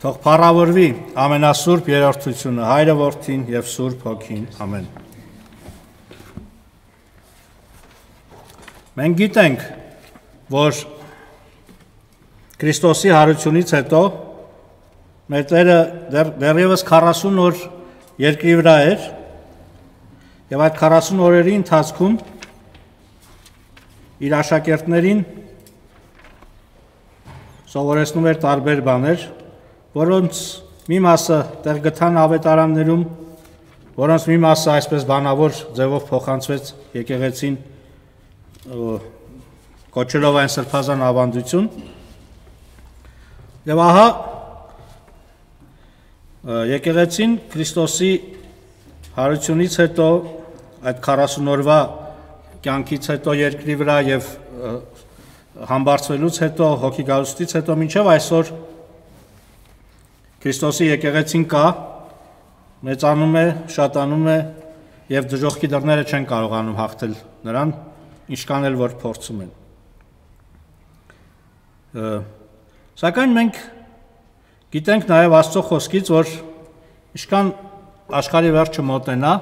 Թող փառավորվի ամենասուրբ երրորդությունը, Հայրը, Որդին և Սուրբ Հոգին, ամեն։ Մենք գիտենք, որ Քրիստոսի հարությունից հետո մեր Տերը դեռևս 40 օր երկրի վրա էր և այդ 40 օրերի ընթացքում իր աշակերտներին սովորեցնում էր տարբեր բաներ, որոնց մի մասը տեղ գտան ավետարաններում, որոնց մի մասը այսպես բանավոր ձևով փոխանցվեց եկեղեցին կոչելով այն սրբազան ավանդություն, և ահա եկեղեցին Քրիստոսի հարությունից հետո, այդ 40 օրվա կյանքից հետո երկրի վրա և համբարձվելուց հետո, հոգի գալուստից հետո մինչև այսօր Քրիստոսի եկեղեցին կա, մեծանում է, շատանում է և դժոխքի դռները չեն կարողանում հաղթել նրան, ինչքան էլ որ փորձում են։ Սակայն մենք գիտենք նաև Աստծո խոսքից, որ ինչքան աշխարհի վերջը մոտենա,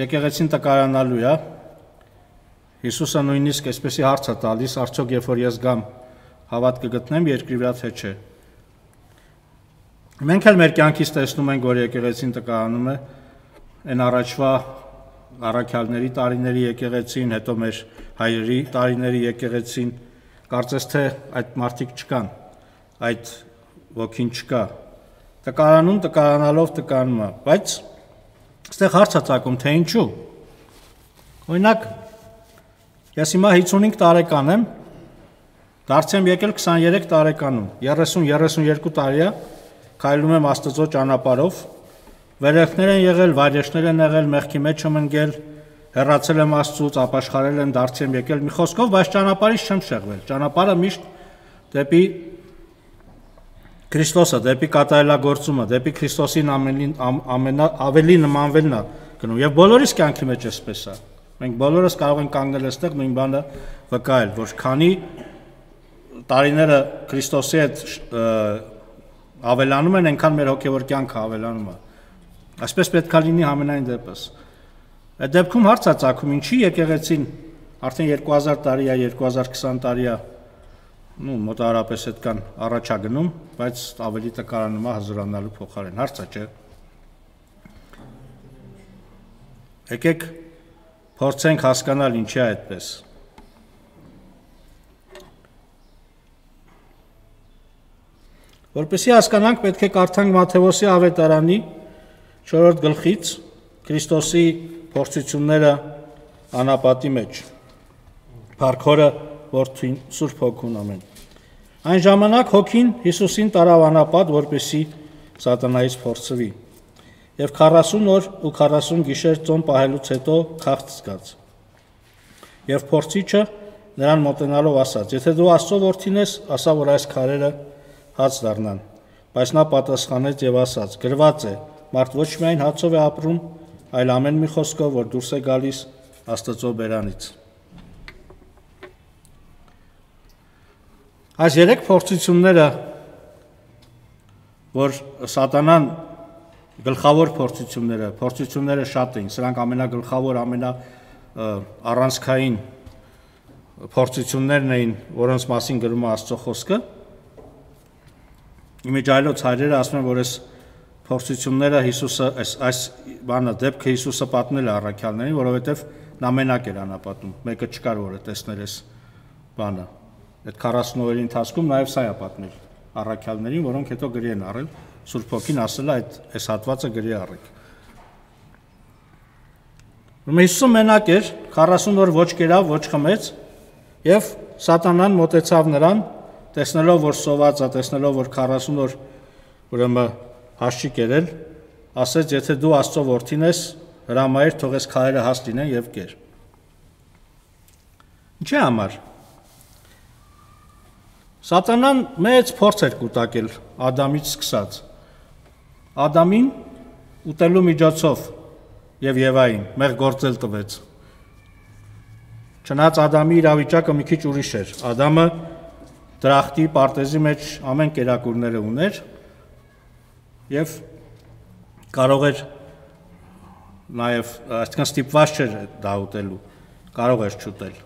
եկեղեցին տկարանալու է, Հիսուսը նույնիսկ այսպեսի հարց է տալիս, արդյոք երբ որ ես գամ, հավատ կգտնեմ երկրի վրա թե չէ։ Մենք էլ մեր կյանքից տեսնում ենք, որ եկեղեցին տկարանում է, այն առաջվա առաքյալների տարիների եկեղեցին, հետո մեր հայրերի տարիների եկեղեցին, կարծես թե այդ մարդիկ չկան, այդ ոգին չկա, տկարանում, տկարանալով տկարանում է, բայց այստեղ հարց է ծագում, թե ինչու։ Օրինակ, ես հիմա 55 տարեկան եմ, դարձ եմ եկել 23 տարեկանում, 30-32 տարի է, քայլում եմ Աստծո ճանապարհով, վերելքներ են եղել, վայրեջքներ են եղել, մեղքի մեջ եմ ընկել, հեռացել եմ Աստծուց, ապաշխարել եմ, դարձ եմ եկել մի խոսքով, բայց ճանապարհից չեմ շեղվել։ Ճանապարհը միշտ դեպի Քրիստոսը, դեպի կատարելագործումը, դեպի Քրիստոսին ավելի նմանվելն է գնում։ Եվ բոլորիս կյանքի մեջ էսպես է։ Մենք բոլորս կարող ենք կանգնել այստեղ նույն բանը վկայել, որ քանի տարիները Քրիստոսի հետ ավելանում են, այնքան մեր հոգևոր կյանքը ավելանում է։ Այսպես պետք է լինի համենայն դեպս։ Այդ դեպքում հարց է ծագում, ինչի եկեղեցին արդեն 2000 տարի է, 2020 տարի է, մոտավորապես այդքան առաջ է գնում, բայց ավելի տկարանում է հզորանալու փոխարեն։ Հարց է, չէ՞։ Եկեք փորձենք հասկանալ ինչի է այդպես։ Որպեսզի հասկանանք, պետք է կարդանք Մատթեոսի ավետարանի 4-րդ գլխից Քրիստոսի փորձությունները անապատի մեջ։ Փառքորը Որդին Սուրբ Հոգուն, ամեն։ Այն ժամանակ Հոգին Հիսուսին տարավ անապատ, որպեսզի սատանայից փորձվի։ Եվ 40 օր ու 40 գիշեր ծոմ պահելուց հետո քաղց զգաց։ Եվ փորձիչը նրան մոտենալով ասաց. «Եթե դու Աստծո որդին ես, ասա, որ այս քարերը հաց դառնան»։ Բայց նա պատասխանեց եւ ասաց. «Գրված է. մարդ ոչ միայն հացով է ապրում, այլ ամեն մի խոսքով, որ դուրս է գալիս Աստծո բերանից»։ Այս 3 փորձությունները, որ սատանան գլխավոր փորձությունները շատ էին, սրանք ամենագլխավոր, առանցքային փորձություններն էին, որոնց մասին գրում է Աստծո խոսքը։ Իմիջայլոց հայրերը ասում են, որ այս փորձությունները Հիսուսը, այս բանը դեպքը Հիսուսը պատմել է առաքյալներին, որովհետև նա մենակ էր անապատում, մեկը չկար, որը տեսներ այս բանը։ Այդ 40 օրերի ընթացքում նաև սա է պատմել առաքյալներին, որոնք հետո գրի են առել, Սուրբ Հոգին ասել է այս հատվածը գրի առեք։ Հիսուսը մենակ էր, 40 օր ոչ կերավ, ոչ խմեց, եւ սատանան մոտեցավ նրան, տեսնելով, որ սոված է, տեսնելով, որ 40 օր ուրեմն հաշ չի կերել, ասեց, եթե դու Աստծո որդին ես, հրամայիր, թող այս քարերը հաց լինեն եւ կեր։ Ինչի համար։ Սատանան մեծ փորձ էր կուտակել Ադամից սկսած։ Ադամին ուտելու միջոցով եւ Եվային մեղ գործել տվեց։ Չնայած Ադամի իրավիճակը մի քիչ ուրիշ էր։ Ադամը դրախտի, պարտեզի մեջ ամեն կերակուրները ուներ, եւ կարող էր նաեւ այսինքն ստիպված չէր դա ուտելու, կարող էր չուտել։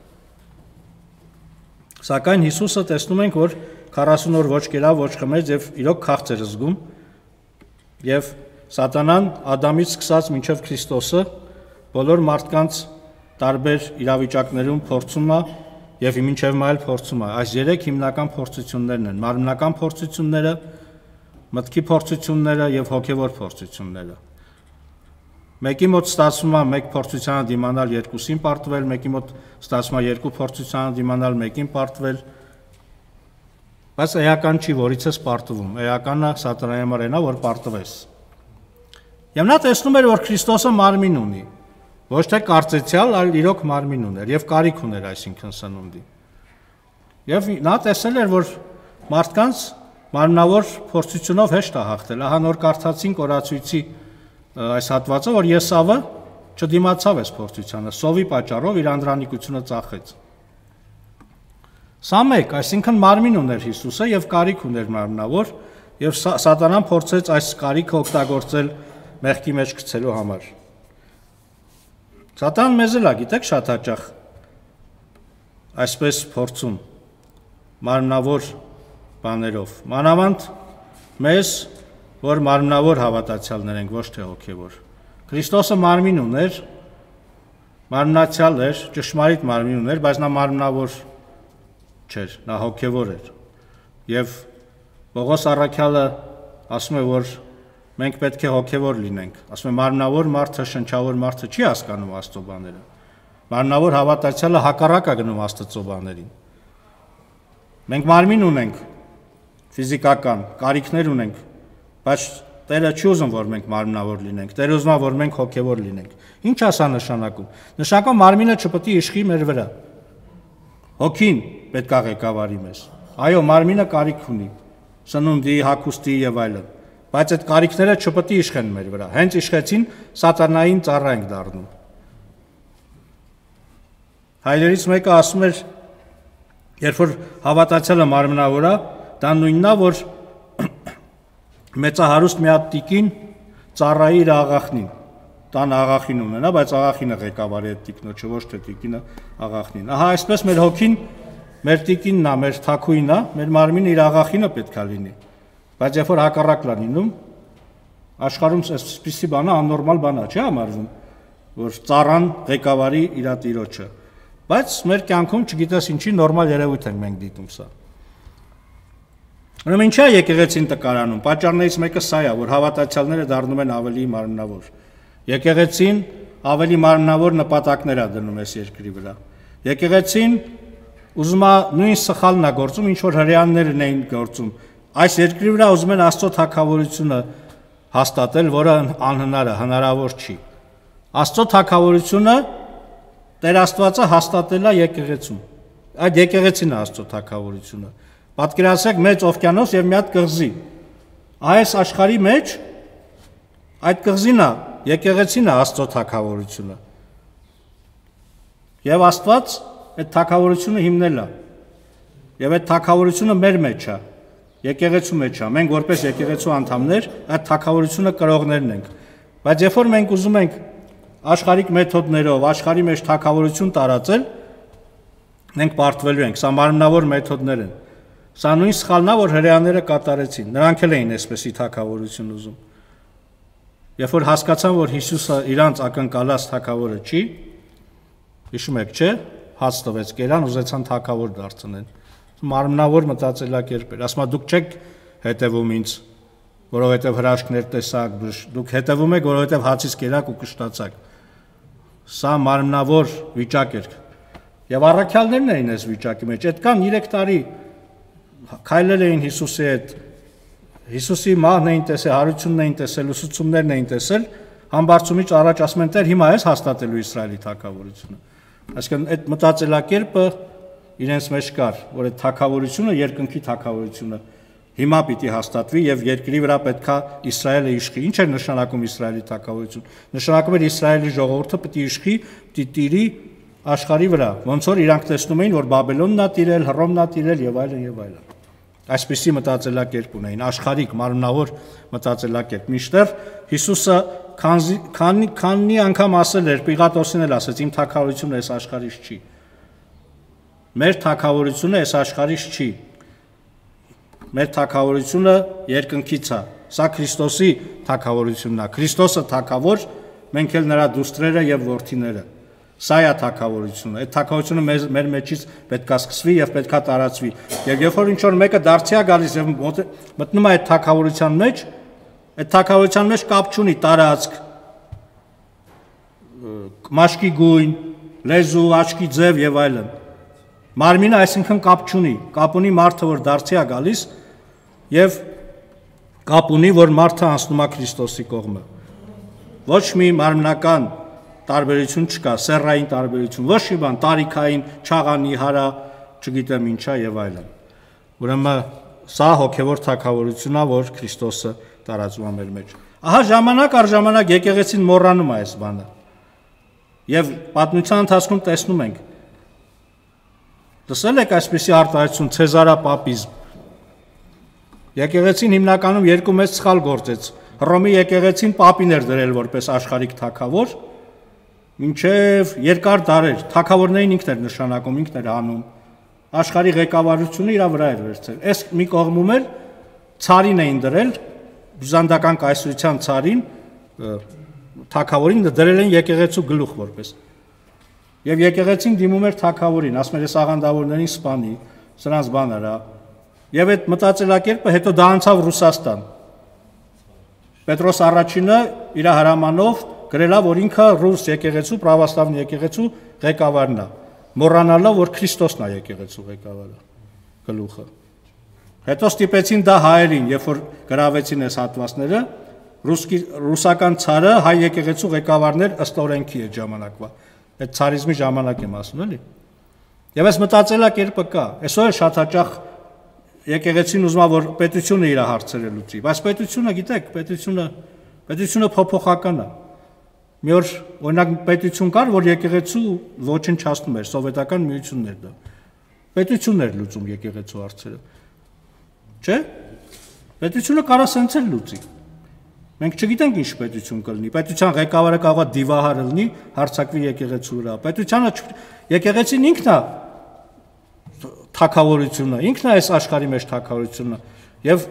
Սակայն Հիսուսը տեսնում ենք, որ 40 օր ոչ կերավ, ոչ խմեց եւ իրոք քաղց էր զգում եւ Սատանան Ադամից սկսած մինչև Քրիստոսը բոլոր մարդկանց տարբեր իրավիճակներում փորձում է եւ մինչև մայլ փորձում է։ Այս 3 հիմնական փորձություններն են՝ մարմնական փորձությունները, մտքի փորձությունները եւ հոգեվոր փորձությունները։ Մեկի մոտ ստացվում է մեկ փորձությանը դիմանալ երկուսին պարտվել, մեկի մոտ ստացվում է երկու փորձությանը դիմանալ մեկին պարտվել, բայց էական չի, որից ես պարտվում, էականը սատանայի համար է, որ պարտվես։ Եվ նա տեսնում էր, որ Քրիստոսը մարմին ունի, ոչ թե կարծեցյալ, այլ իրոք մարմին ուներ եւ կարիք ուներ այսինքն սնունդի։ Եվ նա տեսել էր, որ մարդկանց մարմնավոր փորձությունով հեշտ է հաղթել։ Ահա նոր կարդացինք օրացույցի այս հատվածը, որ Եսավը չդիմացավ այս փորձությանը, սովի պատճառով իր անդրանիկությունը ծախեց։ Սա մեկ, այսինքն մարմին ուներ Հիսուսը եւ կարիք ուներ մարմնավոր, եւ սատանան փորձեց այս կարիքը օգտագործել մեղքի մեջ գցելու համար։ Սատանան մեզ էլ է, գիտեք, շատ հաճախ այսպես փորձում մարմնավոր բաներով, մանավանդ մեզ, որ մարմնավոր հավատացյալներ ենք, ոչ թե հոգևոր։ Քրիստոսը մարմին ուներ, մարմնացյալ էր, ճշմարիտ մարմին ուներ, բայց նա մարմնավոր չէր, նա հոգևոր էր։ Եվ Պողոս առաքյալը ասում է, որ մենք պետք է հոգևոր լինենք։ Ասում է, մարմնավոր մարդը, շնչավոր մարդը չի հասկանում Աստծո բաները։ Մարմնավոր հավատացյալը հակառակ է գնում Աստծո բաներին։ Մենք մարմին ունենք, ֆիզիկական կարիքներ ունենք, բայց Տերը չի ուզում, որ մենք մարմնավոր լինենք։ Տերը ուզում է, որ մենք հոգևոր լինենք։ Ինչ է սա նշանակում։ Նշանակում մարմինը չպետք է իշխի մեր վրա։ Հոգին պետք է ղեկավարի մեզ։ Այո, մարմինը կարիք ունի, սնունդի, հագուստի եւ այլն, բայց այդ կարիքները չպետք է իշխեն մեր վրա։ Հենց իշխեցին, սատանային ծառա ենք դառնում։ Հայրերից մեկը ասում էր, երբ որ հավատացյալը մարմնավոր է, դա նույնն է, որ մեծահարուստ մի հատ տիկին ծառայի իր աղախնին, տան աղախին ունենա, բայց աղախինը ղեկավարի այդ տիկնոջը, ոչ թե տիկինը աղախնին։ Ահա այսպես մեր հոգին, մեր տիկինն է, մեր թաքույնն է, մեր մարմինը իր աղախինը պետք է լինի։ Բայց երբ որ հակառակն է լինում, աշխարհում այսպիսի բանը աննորմալ բան է, չի համարվում, որ ծառան ղեկավարի իր տիրոջը։ Բայց մեր կյանքում չգիտես ինչի նորմալ երևույթ ենք մենք դիտում սա։ Ուրեմն ինչա եկեղեցին տկարանում, պատճառներից մեկը սա է, որ հավատացյալները դառնում են ավելի մարմնավոր։ Եկեղեցին ավելի մարմնավոր նպատակներ է դնում այս երկրի վրա։ Եկեղեցին ուզում է նույն սխալն է գործում, ինչ որ հրեաներն էին գործում։ Այս երկրի վրա ուզում են Աստծո թագավորությունը հաստատել, որը անհնար է, հնարավոր չի։ Աստծո թագավորությունը Տեր Աստվածը հաստատել է եկեղեցում։ Այդ եկեղեցին է Աստծո թագավորությունը։ Պատկերացրեք մեծ օվկիանոս եւ մի հատ կղզի։ Այս աշխարհի մեջ այդ կղզին է, եկեղեցին է Աստծո թագավորությունը։ Եվ Աստված այդ թագավորությունը հիմնել է։ Եվ այդ թագավորությունը մեր մեջ է, եկեղեցու մեջ է։ Մենք որպես եկեղեցու անդամներ այդ թագավորությունը կրողներն ենք։ Բայց երբ որ մենք ուզում ենք աշխարհիկ մեթոդներով աշխարհի մեջ թագավորություն տարածել, մենք պարտվելու ենք։ Սա մարմնավոր մեթոդներ են։ Սա նույն սխալն է, որ հրեաները կատարեցին։ Նրանք էլ էին այսպեսի թագավորություն ուզում։ Երբ որ հասկացան, որ Հիսուսը իրանց ակնկալած թագավորը չի, հիշում եք, չէ՞, հաց տվեց կերան, ուզեցան թագավոր դարձնել։ Մարմնավոր մտածելակերպ էր։ Ասում է դուք չեք հետևում ինձ, որովհետև հրաշքներ տեսաք, դուք հետևում եք, որովհետև հացից կերաք ու կշտացաք։ Սա մարմնավոր վիճակ էր։ Եվ առաքյալներն էին այս վիճակի մեջ։ Այդքան 3 տարի քայլել էին Հիսուսի հետ, Հիսուսի մահն էին տեսել, հարությունն էին տեսել, ուսուցումներն էին տեսել, համբարձումից առաջ ասում են Տեր, հիմա ես հաստատելու Իսրայելի թագավորությունը։ Այսինքն այդ մտածելակերպը իրենց մեջ կար, որ այդ թագավորությունը երկնքի թագավորությունը հիմա պիտի հաստատվի եւ երկրի վրա պետքա Իսրայելը իշխի։ Ինչ էր նշանակում Իսրայելի թագավորություն։ Նշանակում էր Իսրայելի ժողովուրդը պիտի իշխի, պիտի տիրի աշխարհի վրա, ոնց որ իրանք տեսնում էին, որ Բաբելոնն է տիրել, Հռոմն է տիրել եւ այլն եւ այլն։ Այսպիսի մտածելակերպ ունեին, աշխարհիկ մարմնավոր մտածելակերպ։ Մինչդեռ Հիսուսը քանի անգամ ասել էր, Պիղատոսին էլ ասեց, իմ թագավորությունը այս աշխարհից չի։ Մեր թագավորությունը այս աշխարհից չի։ Մեր թագավորությունը երկնքից է։ Սա Քրիստոսի թագավորությունն է։ Քրիստոսը թագավոր, մենք էլ նրա դուստրերը եւ որդիները։ Սա է թագավորությունը։ Այդ թագավորությունը մեր մեջից պետք է սկսվի եւ պետք է տարածվի։ Եվ երբ որ ինչ-որ մեկը դարձի է գալիս եւ մտնում է այդ թագավորության մեջ, այդ թագավորության մեջ կապ չունի տարածք, մաշկի գույն, լեզու, աչքի ձև եւ այլն։ Մարմինը այսինքն կապ չունի, կապ ունի մարդը, որ դարձի է գալիս եւ կապ ունի, որ մարդը անցնում է Քրիստոսի կողմը։ Ոչ մի մարմնական տարբերություն չկա, սեռային տարբերություն, ոչ մի բան, տարիքային, չաղանի, հարա, չգիտեմ ինչա եւ այլն։ Ուրեմն սա հոգեվոր թագավորությունն է, որ Քրիստոսը տարածում է մեր մեջ։ Ահա ժամանակ առ ժամանակ եկեղեցին մոռանում է այս բանը։ Եվ պատմության ընթացքում տեսնում ենք։ Լսել եք այսպիսի արտահայտություն ցեզարապապիզմ։ Եկեղեցին հիմնականում երկու մեծ սխալ գործեց։ Հռոմի եկեղեցին պապին էր դրել որպես աշխարհիկ թագավոր, մինչև երկար դարեր թագավորներին ինքն էր նշանակում, ինքն էր անում։ Աշխարհի ղեկավարությունը իր վրա էր վերցրել։ Այս մի կողմում էլ ցարին էին դրել, բյուզանդական կայսրության ցարին, թագավորին դրել են եկեղեցու գլուխ որպես։ Եվ եկեղեցին դիմում էր թագավորին, ասում էր, այս աղանդավորներին սպանի, սրանց բան արա։ Եվ այդ մտածելակերպը հետո դա անցավ Ռուսաստան։ Պետրոս առաջինը իր հրամանով գրելա, որ ինքը ռուս եկեղեցու, պրավաստավն եկեղեցու ղեկավարն է, մոռանալով, որ Քրիստոսն է եկեղեցու ղեկավարը, գլուխը։ Հետո ստիպեցին դա հայերին, երբ որ գրավեցին այս հատվածները, ռուսական ցարը հայ եկեղեցու ղեկավարներ ըստ օրենքի այդ ժամանակվա։ Այդ ցարիզմի ժամանակ եմ ասում, էլի։ Եվ այս մտածելակերպը կա։ Այսօր շատ հաճախ եկեղեցին ուզում է, որ պետությունը իր հարցերը լուծի, բայց պետությունը, գիտեք, պետությունը փոփոխական է։ Մի օր օրինակ պետություն կար, որ եկեղեցու ոչնչացնում էր, սովետական միությունն էր դա։ Պետությունն էր լուծում եկեղեցու հարցերը։ Չէ՞։ Պետությունը կարա սենց էլ լուծի։ Մենք չգիտենք ինչ պետություն կլինի։ Պետության ղեկավարը կարող է դիվահար լինի, հարձակվի եկեղեցու վրա։ Պետությունը եկեղեցին ինքն է թագավորությունը, ինքն է այս աշխարհի մեջ թագավորությունը։ Եվ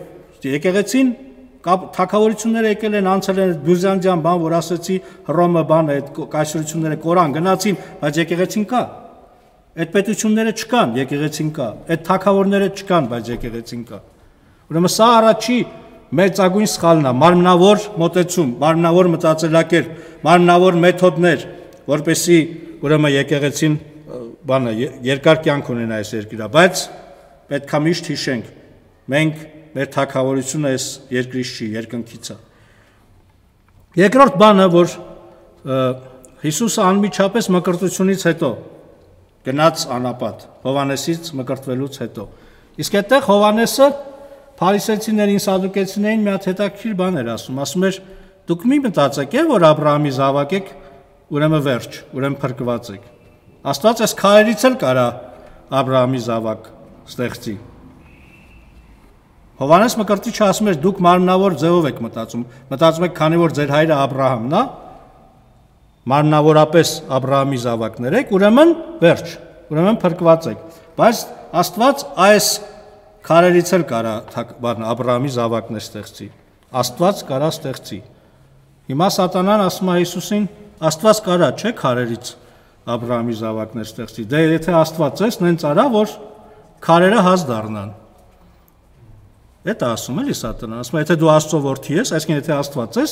եկեղեցին թագավորությունները եկել են, անցել են բյուզանդյան բան, որ ասեցի Հռոմը բան, այդ կայսրությունները կորան գնացին, բայց եկեղեցին կա։ Այդ պետությունները չկան, եկեղեցին կա։ Այդ թագավորները չկան, բայց եկեղեցին կա։ Ուրեմն սա առաջի մեծագույն սխալն է, մարմնավոր մոտեցում, մարմնավոր մտածելակերպ, մարմնավոր մեթոդներ, որպեսզի ուրեմն եկեղեցին բանը երկար կյանք ունենա այս երկիրը, բայց պետք է միշտ հիշենք, մենք մեր թագավորությունը այս երկրից չի, երկնքից է։ Երկրորդ բանը, որ Հիսուսը անմիջապես մկրտությունից հետո գնաց անապատ, Հովհաննեսից մկրտվելուց հետո։ Իսկ այդտեղ Հովհաննեսը Փարիսեցիներին, սադուկեցիներին մի հատ հետաքրքիր բան էր ասում էր, դուք մի մտածեք, որ Աբրահամի զավակ եք, ուրեմն վերջ, ուրեմն փրկված եք։ Աստված այս քարերից էլ կարա Աբրահամի զավակ ստեղծի։ Հովհաննես Մկրտիչը ասում էր, դուք մարմնավոր ձևով եք մտածում եք, քանի որ ձեր հայրը Աբրահամն է, մարմնավորապես Աբրահամի զավակներ եք, ուրեմն վերջ, ուրեմն փրկված եք։ Բայց Աստված այս քարերից էլ կարա Աբրահամի զավակներ ստեղծի։ Աստված կարա ստեղծի։ Հիմա Սատանան ասում է Հիսուսին, Աստված կարա, չէ՞ քարերից Աբրահամի զավակներ ստեղծի։ Դե եթե Աստված ես, նենց արա, որ քարերը հաց դառնան։ Դա ասում էլի Սատանան, ասում է, եթե դու Աստծո որդի ես, այսինքն եթե Աստված ես,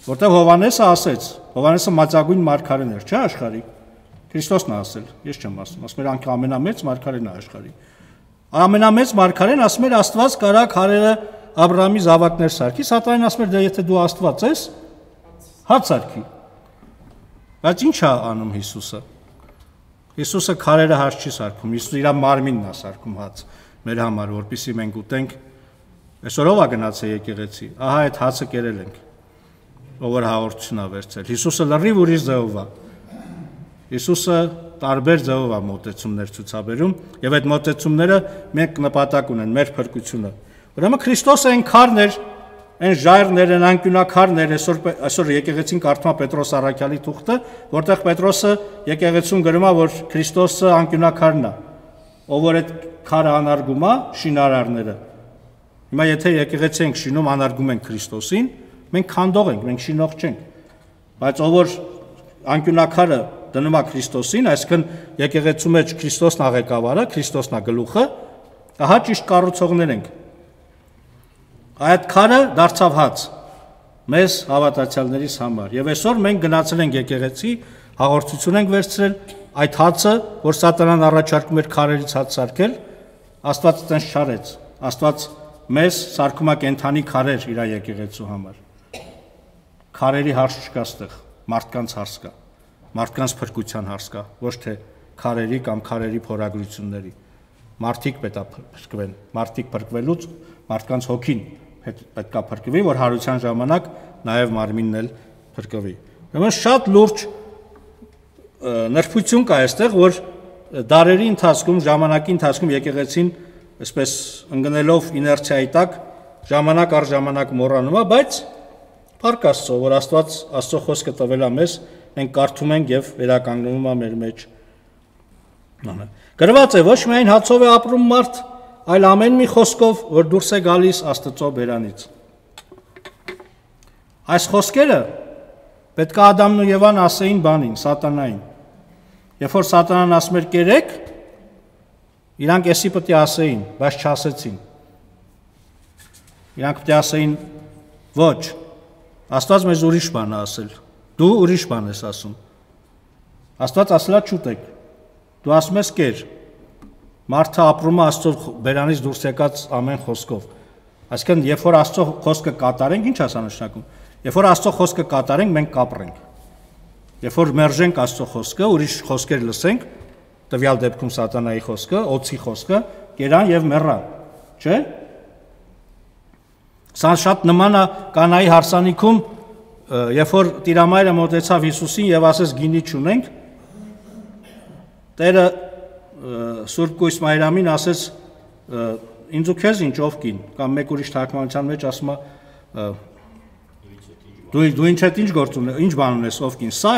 որտեղ Հովհաննեսը ասեց, Հովհաննեսը մածագույն մարգարեն էր, չէ՞ աշխարհի։ Քրիստոսն է ասել, ես չեմ ասում, ասում էր անք ամենամեծ մարգարեն է աշխարհի։ Ամենամեծ մարգարեն ասում էր Աստված կարա քարերը Աբրահամի զավակներ սարքի, Սատանան ասում էր դե եթե դու Աստված ես, հաց սարքի։ Բայց ի՞նչ է անում Հիսուսը։ Հիսուսը քարերը հաց չի սարքում, Հիսուսը իր մարմինն է սարքում հաց մեր համար, որպեսզի մենք ուտենք։ Այսօր ով է գնացել եկեղեցի։ Ահա այդ հացը կերել ենք, ով որ հաղորդություն է վերցել։ Հիսուսը լրիվ ուրիշ ձևով է։ Հիսուսը տարբեր ձևով է մոտեցումներ ցուցաբերում, եւ այդ մոտեցումները մենք նպատակ ունեն մեր փրկությունը։ Ուրեմն Քրիստոսը այն քարն էր, այն ժայռներ են, անկյունակարներ, այսօր եկեղեցին կարդում է Պետրոս առաքյալի թուղթը, որտեղ Պետրոսը եկեղեցուն գրում է, որ Քրիստոսը անկյունակարն է, ով որ այդ քարը անարգում է, շինարարները։ Հիմա եթե եկեղեցի ենք շինում, անարգում ենք Քրիստոսին, մենք քանդող ենք, մենք շինող չենք։ Բայց ով որ անկյունակարը դնում է Քրիստոսին, այսինքն եկեղեցու մեջ Քրիստոսն է ղեկավարը, Քրիստոսն է գլուխը, ահա ճիշտ կառուցողներ ենք։ Այդ քարը դարձավ հաց մեզ հավատացյալներիս համար։ Եվ այսօր մենք գնացել ենք եկեղեցի, հաղորդություն ենք վերցրել, այդ հացը, որ սատանան առաջարկում էր քարերից հաց սարքել, Աստված այդպես չարեց։ Աստված մեզ սարքում է կենդանի քարեր իր եկեղեցու համար։ Քարերի հարց չկա ստեղ, մարդկանց հարց կա, մարդկանց փրկության հարց կա, ոչ թե քարերի կամ քարերի փորագրությունների։ Մարդիկ պետք է փրկվեն, մարդիկ փրկվելուց մարդկանց հոգին պետք է փրկվի, որ հարության ժամանակ նաև մարմինն էլ փրկվի։ Ուրեմն շատ լուրջ նրբություն կա այստեղ, որ դարերի ընթացքում, ժամանակի ընթացքում եկեղեցին այսպես ընկնելով իներցիայի տակ ժամանակ առ ժամանակ մոռանում է, բայց փառք Աստծո, որ Աստծո խոսքը տվել է մեզ, մենք կարդում ենք եւ վերականգնվում է մեր մեջ։ Գրված է, ոչ միայն հացով է ապրում մարդ, այլ ամեն մի խոսքով, որ դուրս է գալիս Աստծո բերանից։ Այս խոսքերը պետք է Ադամն ու Եվան ասեին բանին, սատանային։ Երբ որ սատանան ասում էր կերեք, իրանք էսի պետք է ասեին, բայց չասեցին։ Իրանք պետք է ասեին ոչ, Աստված մեզ ուրիշ բան է ասել, դու ուրիշ բան ես ասում։ Աստված ասել է չուտեք, դու ասում ես կեր։ Մարդը ապրում է Աստծո բերանից դուրս եկած ամեն խոսքով։ Այսինքն, երբ որ Աստծո խոսքը կատարենք, ինչ ասա նշանակում։ Երբ որ Աստծո խոսքը կատարենք, մենք կապրենք։ Երբ որ մերժենք Աստծո խոսքը, ուրիշ խոսքեր լսենք, տվյալ դեպքում սատանայի խոսքը, օծի խոսքը, կերան եւ մեռան, չէ՞։ Սա շատ նման է Կանայի հարսանիքում, երբ որ տիրամայրը մոտեցավ Հիսուսին եւ ասեց գինի չունենք, Տերը Սուրբ Կույս Մայրամին ասեց ինձ ու քեզ ինչ ով կին, կամ մեկ ուրիշ թարգմանության մեջ ասում է դու ինչ հետ ինչ գործ ունես, ինչ բան ունես ով կին։ Սա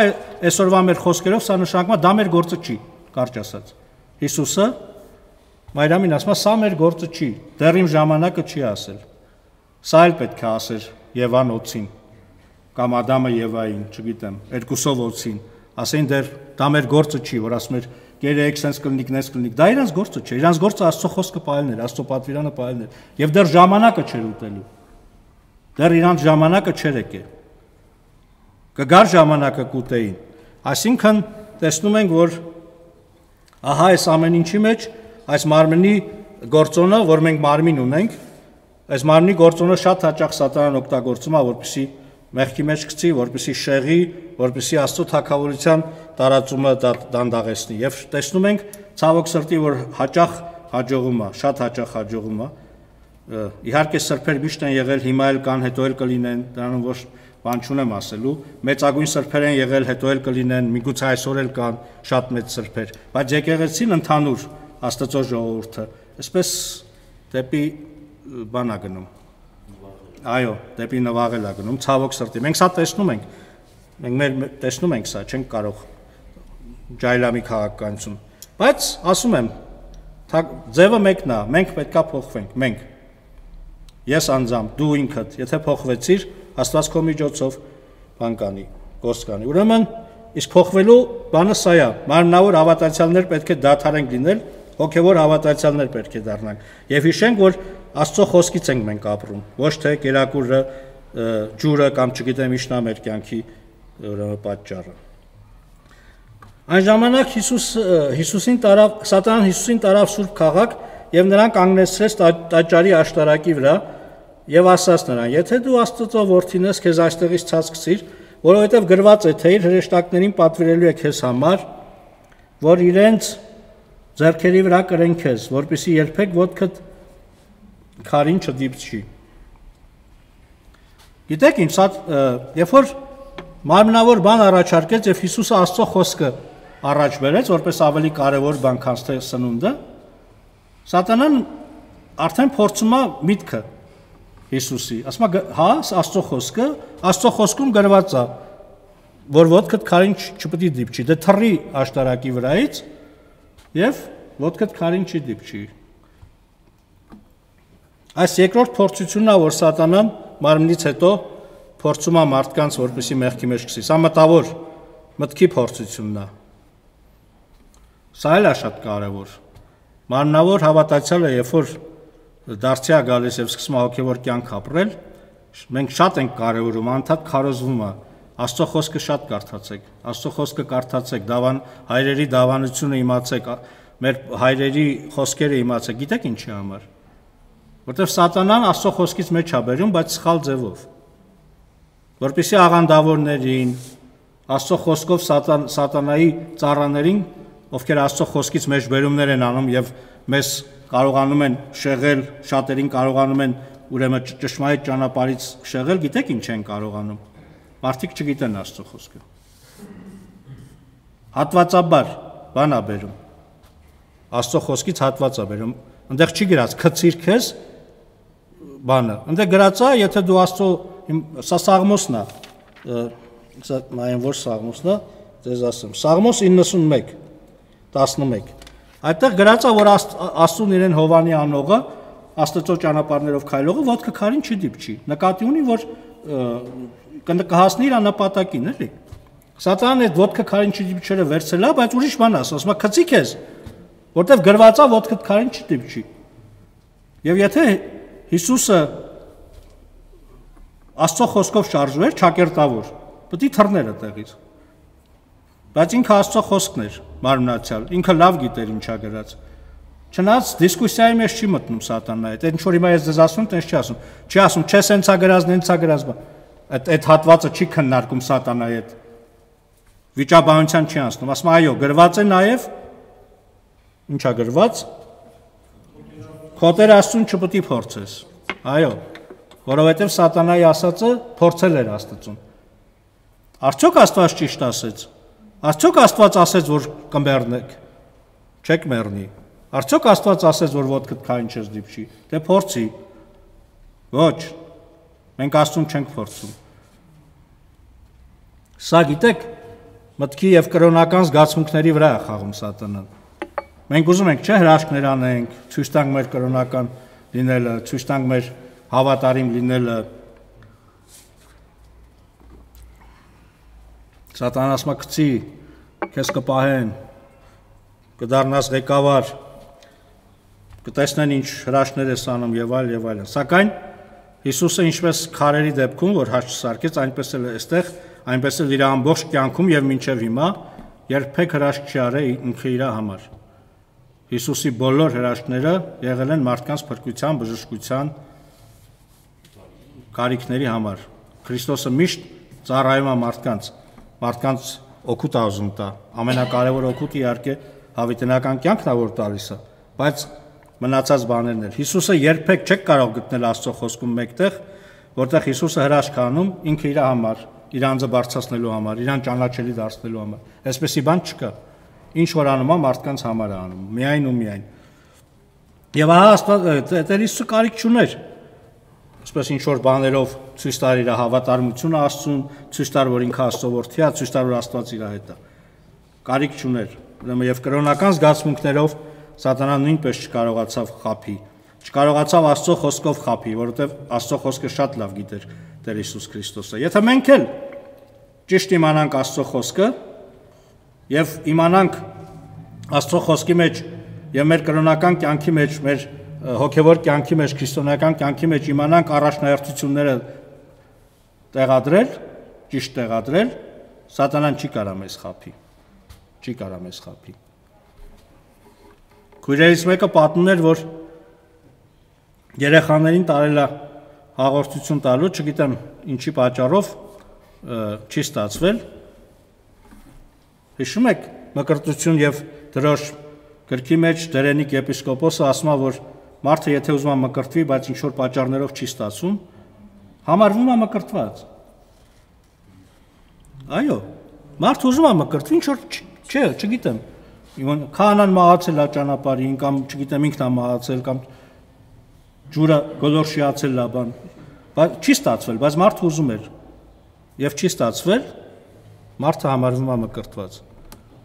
այսօրվա մեր խոսքերով սա նշանակում է դա մեր գործը չի, կարճ ասած։ Հիսուսը Մայրամին ասում է սա մեր գործը չի, դեռ իմ ժամանակը չի ասել։ Սա էլ պետք է ասեր Եվան օծին կամ Ադամը Եվային, չգիտեմ, երկուսով օծին, ասեն դեռ դա մեր գործը չի, որ ասում էր կերեք, sense կլինիկ, նես կլինիկ, դա իրանց գործը չէ, իրանց գործը Աստծո խոսքը պահելն էր, Աստծո պատվիրանը պահելն էր, եւ դեռ ժամանակը չէր ուտելու։ Դեռ իրանց ժամանակը չէր եկել։ Կգար ժամանակը կուտեին։ Այսինքն տեսնում ենք, որ ահա այս ամեն ինչի մեջ այս մարմնի գործոնը, որ մենք մարմին ունենք, այս մարմնի գործոնը շատ հաճախ սատանան օգտագործում է, որպեսզի մեղքի մեջ գցի, որպեսզի շեղի, որպեսզի Աստծո թագավորության տարածումը դանդաղեցնի։ Եվ տեսնում ենք ցավոք սրտի, որ հաճախ հաջողում է, շատ հաճախ հաջողում է։ Իհարկե սրբեր միշտ են եղել, հիմա էլ կան, հետո էլ կլինեն, դրանով ոչ բան չունեմ ասելու։ Մեծագույն սրբեր են եղել, հետո էլ կլինեն, միգուցե այսօր էլ կան շատ մեծ սրբեր, բայց եկեղեցին ընդհանուր Աստծո ժողովուրդը այսպես դեպի բան է գնում։ Այո, դեպի նվաղել է գնում, ցավոք սրտի։ Մենք սա տեսնում ենք։ Մենք տեսնում ենք սա, չենք կարող ջայլամի քաղաքականություն։ Բայց ասում եմ, ձևը մեկն է, մենք պետքա փոխվենք, մենք։ Ես անձամբ, դու ինքդ, եթե փոխվեցիր, Աստված քո միջոցով բան կանի, գործ կանի։ Ուրեմն, իսկ փոխվելու բանը սա է։ Մարմնավոր հավատացյալներ պետք է դադարենք լինել, հոգևոր հավատացյալներ պետք է դառնանք։ Եվ հիշենք, որ Աստծո խոսքից ենք մենք ապրում, ոչ թե կերակուրը, ջուրը կամ չգիտեմ ինչն է մեր կյանքի պատճառը։ Այն ժամանակ Սատանան Հիսուսին տարավ սուրբ քաղաք եւ նրան կանգնեցրեց տաճարի աշտարակի վրա եւ ասաց նրան. «Եթե դու Աստծո որդին ես, քեզ այստեղից ցած գցիր, որովհետեւ գրված է, թե իր հրեշտակներին պատվիրելու է քեզ համար, որ իրենց ձեռքերի վրա կրեն քեզ, որպեսզի երբեք ոտքդ քարին չդիպչի»։ Գիտեք ինչ, երբ որ մարմնավոր բան առաջարկեց եւ Հիսուսը Աստծո խոսքը առաջ բերեց, որպես ավելի կարևոր բան, քան թե սնունդը, Սատանան արդեն փորձում է միտքը Հիսուսի, ասում է, հա, Աստծո խոսքը, Աստծո խոսքում գրված է, որ ոտքդ քարին չպետք է դիպչի, դե թռի աշտարակի վրայից եւ ոտքդ քարին չի դիպչի։ Այս երկրորդ փորձությունն է, որ Սատանան մարմնից հետո փորձում է մարդկանց, որպեսզի մեղքի մեջ գցի։ Սա մտավոր մտքի փորձությունն է։ Սա էլ է շատ կարևոր։ Մարմնավոր հավատացյալը, երբ որ դարձի է գալիս եւ սկսում է հոգեվոր կյանք ապրել, մենք շատ ենք կարևորում, անդադ քարոզվում է, Աստծո խոսքը շատ կարդացեք, Աստծո խոսքը կարդացեք, հայրերի դավանությունը իմացեք, մեր հայրերի խոսքերը իմացեք, գիտեք ինչի համար։ Որտեւ Սատանան Աստծո խոսքից մեջ է բերում, բայց սխալ ձևով։ Որպեսզի աղանդավորներին, Աստծո խոսքով Սատանայի ծառաներին, ովքեր Աստծո խոսքից մեջ բերումներ են անում եւ մեզ կարողանում են շեղել, շատերին կարողանում են ուրեմն ճշմարիտ ճանապարհից շեղել, գիտեք ինչ են կարողանում։ Մարդիկ չգիտեն Աստծո խոսքը։ Հատվածաբար բան է բերում։ Աստծո խոսքից հատված է բերում։ Այնտեղ չի գրած քցիր քեզ բանը։ Այնտեղ գրած է, եթե դու Աստծո սա Սաղմոսն է, սա նայեմ որ Սաղմոսն է, ձեզ ասեմ։ Սաղմոս 91:11։ Այդտեղ գրած է, որ Աստծուն իրեն Հովանի անողը, Աստծո ճանապարհներով քայլողը ոտքը քարին չդիպչի։ Նկատի ունի, որ կհասնի իր նպատակին, էլի։ Սատանան այդ ոտքը քարին չդիպչելը վերցել է, բայց ուրիշ բան ասում է, քցի քեզ, որտեվ գրված է ոտքդ քարին չդիպչի։ Եվ եթե Հիսուսը Աստծո խոսքով շարժվեր, ճակերտավոր, պետք է թռներ այդտեղից։ Բայց ինքը Աստծո խոսքն էր, մարմնացյալ, ինքը լավ գիտեր ինչա գրած։ Չնայած դիսկուսիայի մեջ չի մտնում Սատանան այդ, ինչ որ հիմա ես ձեզ ասում, տենց չի ասում։ Չի ասում, չէ, սենցա գրած, նենցա գրած, այդ հատվածը չի քննարկում Սատանայի հետ։ Վիճաբանության չի անցնում, ասում այո, գրված է նաև ինչա գրված։ Քո Տեր Աստծուն չպետք է փորձես։ Այո, որովհետև Սատանայի ասածը փորձել էր Աստծուն։ Արդյոք Աստված ճիշտ ասեց։ Արդյոք Աստված ասեց, որ կմեռնեք, չեք մեռնի։ Արդյոք Աստված ասեց, որ ոտքդ քարին չես դիպչի, դե փորձի։ Ոչ, մենք Աստծուն չենք փորձում։ Սա գիտեք, մտքի եւ կրոնական զգացմունքների վրա է խաղում Սատանան։ Մենք ուզում ենք, չէ, հրաշքներ անենք, ցույց տանք մեր կրոնական լինելը, ցույց տանք մեր հավատարիմ լինելը։ Սատանան ասում է, գցի, քեզ կպահեն, կդառնաս ղեկավար, կտեսնեն ինչ հրաշքներ ես անում եւ այլն։ Սակայն Հիսուսը ինչպես քարերի դեպքում, որ հաշ չսարքեց, այնպես էլ այստեղ, այնպես էլ իր ամբողջ կյանքում եւ մինչեւ հիմա երբեք հրաշք չի արել ինքը իր համար։ Հիսուսի բոլոր հրաշքները եղել են մարդկանց փրկության, բժշկության կարիքների համար։ Քրիստոսը միշտ ծառայում է մարդկանց օգուտ է ուզում տա։ Ամենակարևոր օգուտը իհարկե հավիտենական կյանքն է, որ տալիս է, բայց մնացած բաներն էլ։ Հիսուսը երբեք չեք կարող գտնել Աստծո խոսքում մեկտեղ, որտեղ Հիսուսը հրաշք անում ինքը իր համար, իր անձը բարձրացնելու համար, իրան ճանաչելի դարձնելու համար։ Այսպեսի բան չկա։ Ինչ որ անում է մարդկանց համար է անում, միայն ու միայն։ Եվ ահա Աստված Տեր Հիսուսը կարիք չուներ, այսպես ինչ որ բաներով ցույց տար իր հավատարմությունը Աստծուն, ցույց տար, որ ինքը Աստծո որդի է, ցույց տար, որ Աստված իր հետ է։ Կարիք չուներ։ Ուրեմն եւ կրոնական զգացմունքներով Սատանան նույնպես չկարողացավ խափի, չկարողացավ Աստծո խոսքով խափի, որովհետև Աստծո խոսքը շատ լավ գիտեր Տեր Հիսուս Քրիստոսը։ Եթե մենք էլ ճիշտ իմանանք Աստծո խոսքը եւ իմանանք Աստծո խոսքի մեջ եւ մեր կրոնական կյանքի մեջ, մեր հոգեվոր կյանքի մեջ, քրիստոնեական կյանքի մեջ իմանանք առաջնահերթությունները տեղադրել, ճիշտ տեղադրել, Սատանան չի կարա մեզ խափի։ Չի կարա մեզ խափի։ Քույրերից մեկը պատմում էր, որ երեխաներին տարել է հաղորդություն տալու, չգիտեմ ինչի պատճառով չի ստացվել։ Հիշում եք Մկրտություն եւ Դրոշ գրքի մեջ Դերենիկ եպիսկոպոսը ասում է, որ մարդը եթե ուզում է մկրտվի, բայց ինչ որ պատճառներով չի ստացվում, համարվում է մկրտված։ Այո, մարդը ուզում է մկրտվի, ինչ որ Չէ, չգիտեմ։ Քահանան մահացել է ճանապարհին կամ չգիտեմ ինքն է մահացել կամ ջուրը գոլորշիացել է բան, բայց չի ստացվել, բայց մարդը ուզում էր եւ չի ստացվել, մարդը համարվում է մկրտված։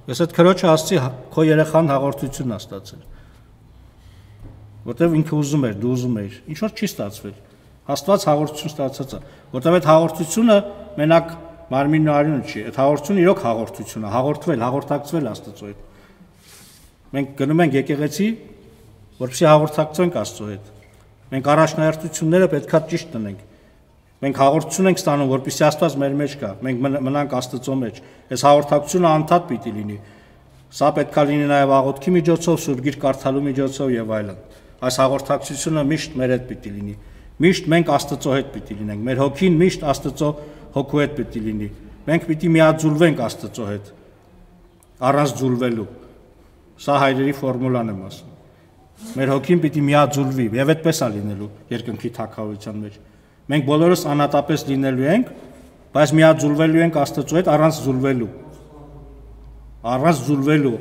Ես այդ քրոջը ասացի, քո երեխան հաղորդություն է ստացել, որտեվ ինքը ուզում էր, դու ուզում էիր, ինչ որ չի ստացվել, Աստված հաղորդություն ստացած է, որտեվ այդ հաղորդությունը մենակ մարմինն ու արյունը չի, այդ հաղորդությունը իրոք հաղորդություն է, հաղորդվել, հաղորդակցվել Աստծո հետ։ Մենք գնում ենք եկեղեցի, որպեսզի հաղորդակցենք Աստծո հետ։ Մենք առաջնահերթությունները պետքա ճիշտ տնենք։ Մենք հաղորդություն ենք ստանում, որպեսզի Աստված մեր մեջ կա, մենք մնանք Աստծո մեջ։ Այս հաղորդակցությունը անդադ պիտի լինի։ Սա պետքա լինի նաև աղոթքի միջոցով, Սուրբ Գիրք կարդալու միջոցով եւ այլն։ Այս հաղորդակցությունը միշտ մեր հետ պիտի լինի։ Միշտ մենք Աստծո հետ պիտի լինենք։ Մեր հոգին միշտ Աստծո հոգու հետ պիտի լինի։ Մենք պիտի միաձուլվենք Աստծո հետ։ Առանց ձուլվելու։ Սա հայրերի ֆորմուլան եմ ասում։ Մեր հոգին պիտի միաձուլվի եւ այդպես է լինելու երկնքի թագավորության մեջ։ Մենք բոլորս անհատապես լինելու ենք, բայց միաձուլվելու ենք Աստծո հետ առանց ձուլվելու։ Առանց ձուլվելու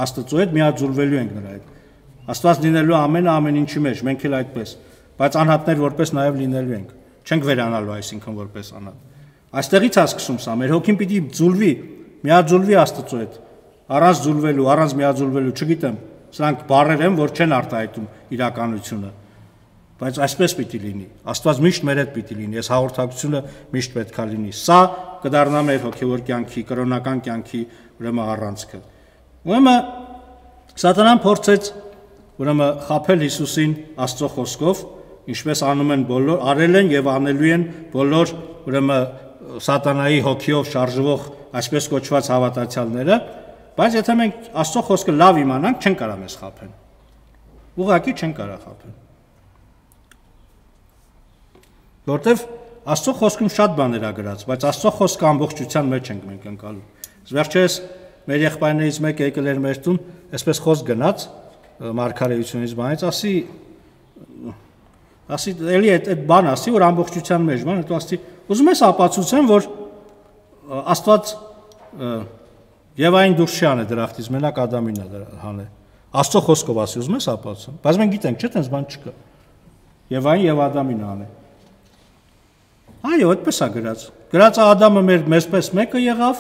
Աստծո հետ միաձուլվելու ենք նրա հետ։ Աստված լինելու ամեն ինչի մեջ, մենք էլ այդպես, բայց անհատներ որպես նաև լինելու ենք։ Չենք վերանալու այսինքն որպես անհատ։ Այստեղից է սկսում սա, մեր հոգին պիտի ձուլվի, միաձուլվի Աստծո հետ, առանց ձուլվելու, առանց միաձուլվելու, չգիտեմ, սրանք բառեր են, որ չեն արտահայտում իրականությունը, բայց այսպես պիտի լինի։ Աստված միշտ մեր հետ պիտի լինի, այս հաղորդակցությունը միշտ պետքա լինի։ Սա կդառնա մեր հոգևոր կյանքի, կրոնական կյանքի ուրեմն առանցքը։ Ուրեմն Սատանան փորձեց ուրեմն խաբել Հիսուսին Աստծո խոսքով, ինչպես անում են բոլոր, արել են եւ անելու են բոլոր ուրեմն Սատանայի հոգիով շարժվող այսպես կոչված հավատացյալները, բայց եթե մենք Աստծո խոսքը լավ իմանանք, չեն կարող մեզ խաբել։ Ուղղակի չեն կարող խաբել։ Որտեվ Աստծո խոսքում շատ բաներ ա գրած, բայց Աստծո խոսքը ամբողջության մեջ ենք մենք ընկալում։ Վերջերս մեր եղբայրներից մեկը եկել էր մեր տուն, այսպես խոսք գնաց մարգարեությունից բանից, ասի էլի այդ բան ասի, որ ամբողջության մեջ բան, հետո ասի, ուզում ես ապացուցեմ, որ Աստված Եվային դուրս չի անել դրախտից, մենակ Ադամին է հանել։ Աստծո խոսքով ասի, ուզում ես ապացուցեմ, բայց մենք գիտենք, չէ՞ տենց բան չկա։ Եվային եւ Ադամին է անել։ Այո, այդպես է գրած։ Գրածը Ադամը մեզպես մեկը եղավ,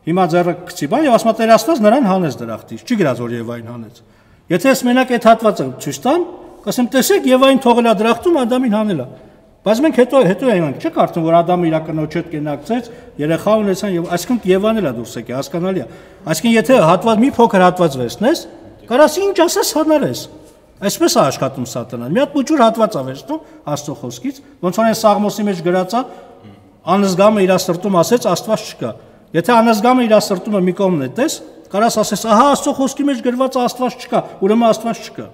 հիմա ձեռը գցի բան եւ ասում է Տեր Աստված նրան հանեց դրախտից, չի գրած որ Եվային հանեց։ Եթե ես մենակ այդ հատվածը ցույց տամ, կասեմ տեսեք Եվային թողել է դրախտում, Ադամին հանել է։ Բայց մենք հետո այնք չեք արդեն որ Ադամը իր կնոջ հետ կենակցեց, երեխա ունեցան եւ այսինքն Եվան էլ է դուրս եկել, հասկանալի է։ Այսինքն եթե հատված մի փոքր հատված վերցնես, կարաս ինչ ասես հանարես։ Այսպես է աշխատում Սատանան։ Մի հատ փոքր հատված է վերցնում Աստծո խոսքից, ոնց որ այն Սաղմոսի մեջ գրած է, անզգամը իր սրտում ասեց Աստված չկա։ Եթե անզգամը իր սրտումը մի կողմ նետես, կարաս ասես, ահա Աստծո խոսքի մեջ գրված է Աստված չկա, ուրեմն Աստված չկա։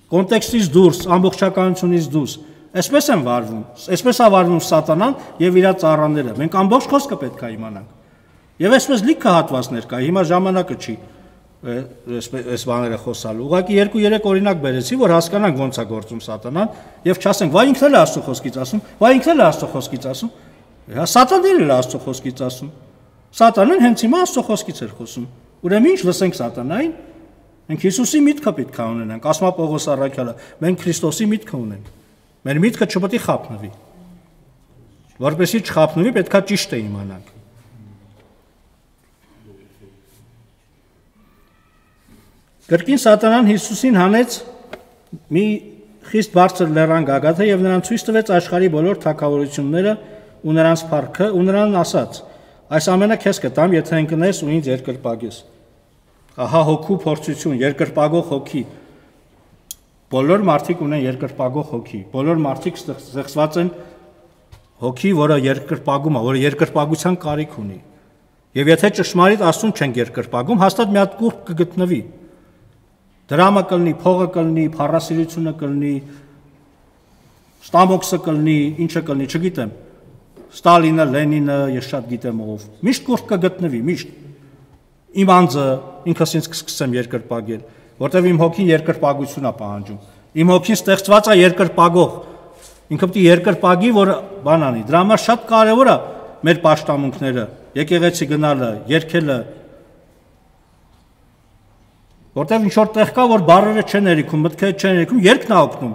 Կոնտեքստից դուրս, ամբողջականությունից դուրս։ Այսպես են վարվում, այսպես է վարվում Սատանան եւ իր ծառաները։ Մենք ամբողջ խոսքը պետք է իմանանք։ Եվ այսպես լիքը հատվածներ կա, հիմա ժամանակը չի այս բաները խոսալու։ Ուղղակի 2-3 օրինակ բերեցի, որ հասկանանք ոնց է գործում Սատանան եւ չասենք, վայ ինքն էլ է Աստծո խոսքից ասում, վայ ինքն էլ է Աստծո խոսքից ասում։ Հա Սատանն էլ է Աստծո խոսքից ասում։ Սատանան հենց հիմա Աստծո խոսքից էր խոսում։ Ուրեմն ինչ լսենք Սատանային։ Մենք Հիսուսի միտքը պետք է ունենանք, ասում է Պողոս առաքյալը, մենք Քրիստոսի միտքը ունենք։ Մեր միտքը չպետք է խափնվի։ Որպեսզի չխափնվի, պետք է ճիշտը իմանանք։ Կրկին Սատանան Հիսուսին հանեց մի խիստ բարձր լեռան գագաթը եւ նրան ցույց տվեց աշխարհի բոլոր թագավորությունները ու նրանց փառքը ու նրան ասաց. այս ամենը քեզ կտամ, եթե ընկնես ու ինձ երկրպագես։ Ահա հոգու փորձություն, երկրպագող հոգի։ Բոլոր մարդիկ ունեն երկրպագող հոգի։ Բոլոր մարդիկ ստեղծված են հոգի, որը երկրպագում է, որը երկրպագության կարիք ունի։ Եվ եթե ճշմարիտ Աստծուն չենք երկրպագում, հաստատ մի հատ կուռք կգտնվի։ Դրամը կլինի, փողը կլինի, փառասիրությունը կլինի, Ստամոքսը կլինի, ինչը կլինի, չգիտեմ։ Ստալինը, Լենինը, ես շատ գիտեմ ով։ Միշտ կուռք կգտնվի, միշտ։ Իմ անձը ինքս ինձ կսկսեմ երկրպագել, որտեղ իմ հոգին երկրպագություն է պահանջում։ Իմ հոգին ստեղծված է երկրպագող։ Ինքը պետք է երկրպագի, որ բան անի։ Դրա համար շատ կարևոր է մեր պաշտամունքները, եկեղեցի գնալը, երգելը, Որտեվ ինչ որ տեղ կա, որ բառերը չեն երիքում, մտքերը չեն երիքում, երգն է օգնում։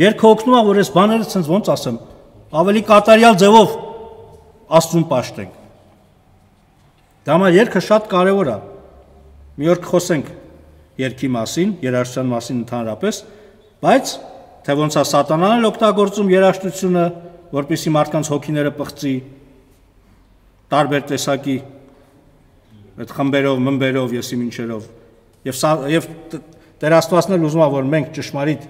Երգը օգնում է, որ այս բաները ցենց ոնց ասեմ, ավելի կատարյալ ձևով Աստծուն պաշտենք։ Դա համար երգը շատ կարևոր է։ Մի օր կխոսենք երգի մասին, երաժշտության մասին ընդհանրապես, բայց թե ոնց է սատանան էլ օգտագործում երաժշտությունը, որպեսզի մարդկանց հոգիները պղծի տարբեր տեսակի այդ խմբերով, մմբերով, եսիմինչերով։ Եվ Տեր Աստվածն էլ ուզում է, որ մենք ճշմարիտ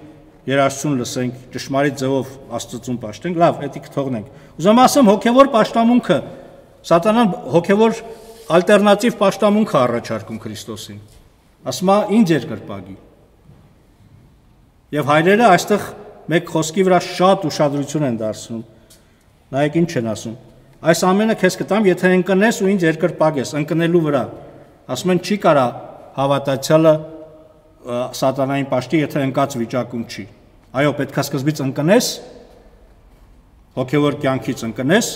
երաժշտություն լսենք, ճշմարիտ ձևով Աստծուն պաշտենք, լավ, դա կթողնենք։ Ուզում ասեմ, հոգևոր պաշտամունքը, սատանան հոգևոր ալտերնատիվ պաշտամունք է առաջարկում Քրիստոսին։ Ասում է ինձ երկրպագի։ Եվ հայրերը այստեղ մեկ խոսքի վրա շատ ուշադրություն են դարձնում։ Նայեք ինչ են ասում։ Այս ամենը քեզ կտամ, եթե ընկնես ու ինձ երկրպագես, ընկնելու վրա։ Ասում են չի կարա հավատացյալը սատանային պաշտի, եթե ընկած վիճակում չի։ Այո, պետք է սկզբից ընկնես, հոգևոր կյանքից ընկնես,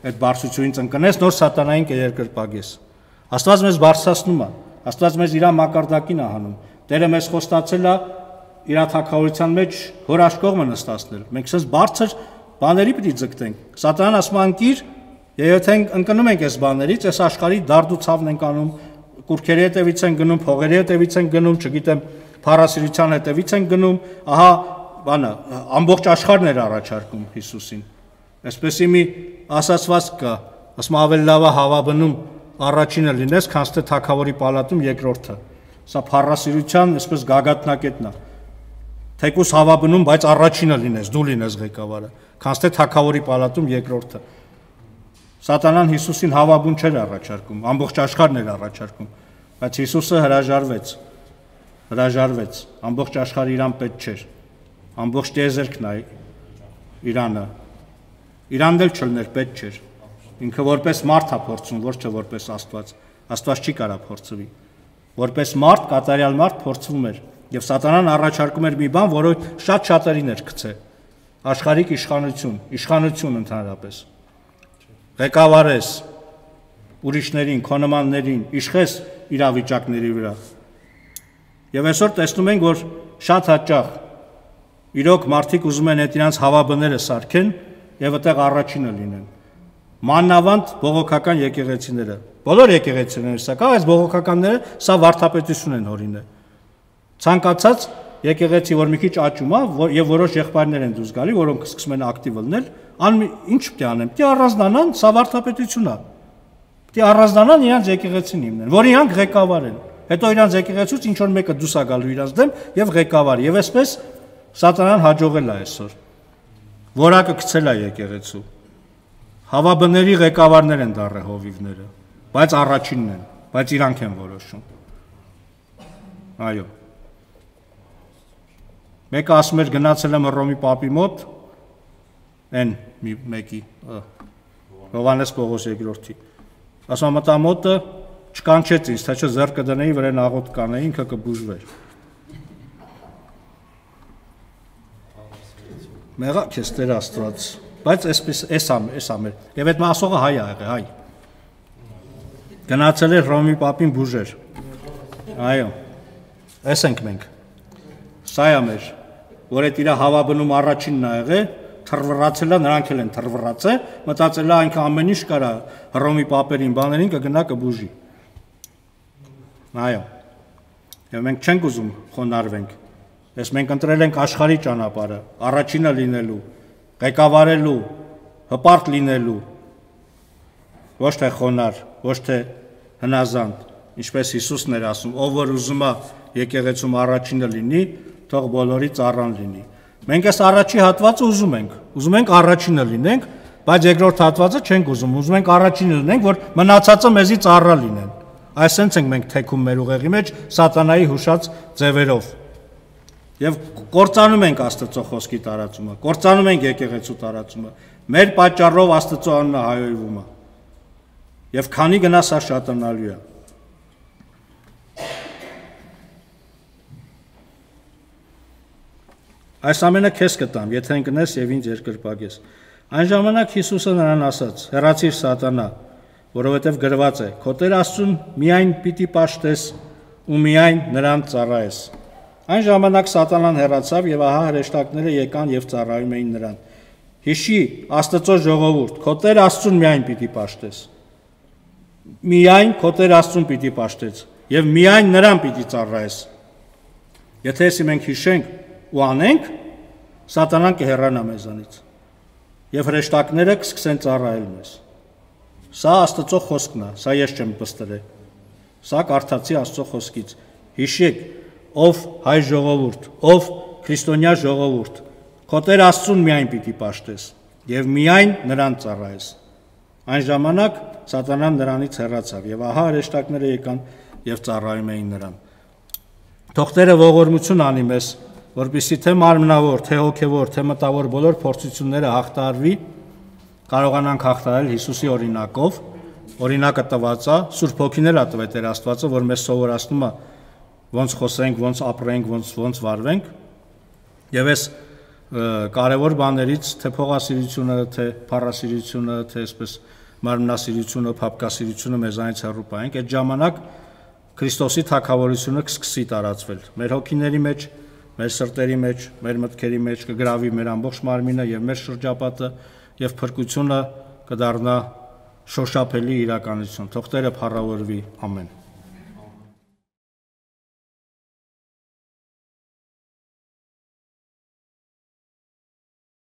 այդ բարձրությունից ընկնես, նոր սատանային կերկրպագես։ Աստված մեզ բարձրացնում է, Աստված մեզ իր մակարդակին է հանում։ Տերը մեզ խոստացել է իր թագավորության մեջ հոր աշկողը նստացնել։ Մենք ցած բարձր բաների պիտի ձգտենք։ Սատանան ասում է ընկիր, եթե ընկնում ենք այս բաներից, այս աշխարհի դարդ ու ցավն ենք անում, կուրքերի հետևից են գնում, փողերի հետևից են գնում, չգիտեմ, փառասիրության հետևից են գնում, ահա բանը ամբողջ աշխարհն էր առաջարկում Հիսուսին։ Այսպեսի մի ասացված կա, ասում ավելի լավ է հավաբնում առաջինը լինես, քան թե թագավորի պալատում երկրորդը։ Սա փառասիրության այսպես գագաթնակետն է։ Թեկուս հավաբնում, բայց առաջինը լինես, դու լինես ղեկավարը, քան թե թագավորի պալատում երկրորդը։ Սատանան Հիսուսին հավաբուն չէր առաջարկում, ամբողջ աշխարհն էր առաջարկում, բայց Հիսուսը հրաժարվեց, ամբողջ աշխարհը իրան պետք չէր, ամբողջ տիեզերքն է Իրանը, Իրանն էլ չլներ պետք չէր, ինքը որպես մարդ է փորձում, ոչ թե որպես Աստված, Աստված չի կարա փորձվի, որպես մարդ, կատարյալ մարդ փորձվում էր, եւ Սատանան առաջարկում էր մի բան, որը շատ շատերին էր գցե, աշխարհիկ իշխանություն ընդհանրապես, ղեկավարես ուրիշներին, քո նմաններին, իշխես իրավիճակների վրա։ Եվ այսօր տեսնում ենք, որ շատ հաճախ իրոք մարդիկ ուզում են այդ իրանց հավաբները սարքեն եւ այդտեղ առաջինը լինեն։ Մանավանդ բողոքական եկեղեցիները, բոլոր եկեղեցիները սա կա, այս բողոքականները սա վարդապետություն են հորինել։ Ցանկացած եկեղեցի, որ մի քիչ աճում է, եւ որոշ եղբայրներ են դուրս գալի, որոնք սկսում են ակտիվ լինել, ինչ պետք է անեն։ Պետք է առանձնանան, սա վարդապետություն է։ Պետք է առանձնանան իրանց եկեղեցին հիմնեն, որ իրանք ղեկավարեն։ Հետո իրանց եկեղեցուց ինչ որ մեկը դուրս է գալու իրանց դեմ եւ ղեկավար։ Եվ այսպես Սատանան հաջողել է այսօր։ Որակը գցել է եկեղեցու։ Հավաբների ղեկավարներ են դառը հովիվները, բայց առաջինն են, բայց իրանք են որոշում։ Այո։ Մեկը ասում էր գնացել եմ Հռոմի պապի մոտ, այն մեկի Հովհաննես Պողոս II։ Ասում մտա մոտը չկանչեց ինձ, թե չէ ձեռ կդնեի վրան աղոտ կանեի, ինքը կբուժվեր։ Մեղա քեզ Տեր Աստված, բայց այսպես էս ամեր։ Եվ այդ մասողը հայ ա եղել, հայ։ Գնացել էր Հռոմի պապին բուժեր։ Այո։ Էս ենք մենք։ Սա է մեր, որ այդ իր հավաբնում առաջինն ա եղել, թռվռացել է, նրանք էլ են թռվռացել, մտածել է այնքան ամեն ինչ կարա Հռոմի պապերին, բաներին կգնա կբուժի։ Այո։ Եվ մենք չենք ուզում խոնարհվենք։ Ես մենք ընտրել ենք աշխարհի ճանապարհը, առաջինը լինելու, ղեկավարելու, հպարտ լինելու, ոչ թե խոնարհ, ոչ թե հնազանդ, ինչպես Հիսուսն էր ասում, ով որ ուզում է եկեղեցում առաջինը լինի, թող բոլորի ծառան լինի։ Մենք այս առաջի հատվածը ուզում ենք առաջինը լինենք, բայց երկրորդ հատվածը չենք ուզում ենք առաջինը լինենք, որ մնացածը մեզի ծառա լինեն։ Այսպես ենք մենք թեքում մեր ուղեղի մեջ սատանայի հուշած ձևերով։ Եվ կործանում ենք Աստծո խոսքի տարածումը, կործանում ենք եկեղեցու տարածումը։ Մեր պատճառով Աստծո անունը հայոյվում է։ Եվ քանի գնա սա շատանալու է։ Այս ամենը քեզ կտամ, եթե ընկնես եւ ինձ երկրպագես։ Այն ժամանակ Հիսուսը նրան ասաց. «Հեռացիր սատանա, որովհետև գրված է. «Քո Տեր Աստծուն միայն պիտի պաշտես ու միայն նրան ծառայես»։ Այն ժամանակ Սատանան հեռացավ եւ ահա հրեշտակները եկան եւ ծառայում էին նրան։ Հիշի, Աստծո ժողովուրդ, քո Տեր Աստծուն միայն պիտի պաշտես։ Միայն քո Տեր Աստծուն պիտի պաշտես եւ միայն նրան պիտի ծառայես։ Եթե էսի մենք հիշենք ու անենք, Սատանան կհեռանա մեզանից եւ հրեշտակները կսկսեն ծառայել մեզ։ Սա Աստծո խոսքն է, սա ես չեմ պստրել։ Սա կարդացի Աստծո խոսքից։ Հիշեք, ով հայ ժողովուրդ, ով քրիստոնյա ժողովուրդ, քո Տեր Աստծուն միայն պիտի պաշտես եւ միայն նրան ծառայես։ Այն ժամանակ Սատանան նրանից հեռացավ եւ ահա հրեշտակները եկան եւ ծառայում էին նրան։ Թող Տերը ողորմություն անի մեզ, որպեսզի թե մարմնավոր, թե հոգևոր, թե մտավոր բոլոր փորձությունները հաղթահարվի, կարողանանք հաղթահարել Հիսուսի օրինակով։ Օրինակը տված է, Սուրբ Հոգին էլ է տվել Տեր Աստվածը, որ մեզ սովորացնում է ոնց խոսենք, ոնց ապրենք, ոնց վարվենք։ Եվ այս կարևոր բաներից, թե փողասիրությունը, թե փառասիրությունը, թե այսպես մարմնասիրությունը, փափկասիրությունը մեզանից հեռու պահենք, այդ ժամանակ Քրիստոսի թագավորությունը կսկսի տարածվել մեր հոգիների մեջ, մեր սրտերի մեջ, մեր մտքերի մեջ, կգրավի մեր ամբողջ մարմինը եւ մեր շրջապատը եւ փրկությունը կդառնա շոշափելի իրականություն։ Թող Տերը փառավորվի, ամեն։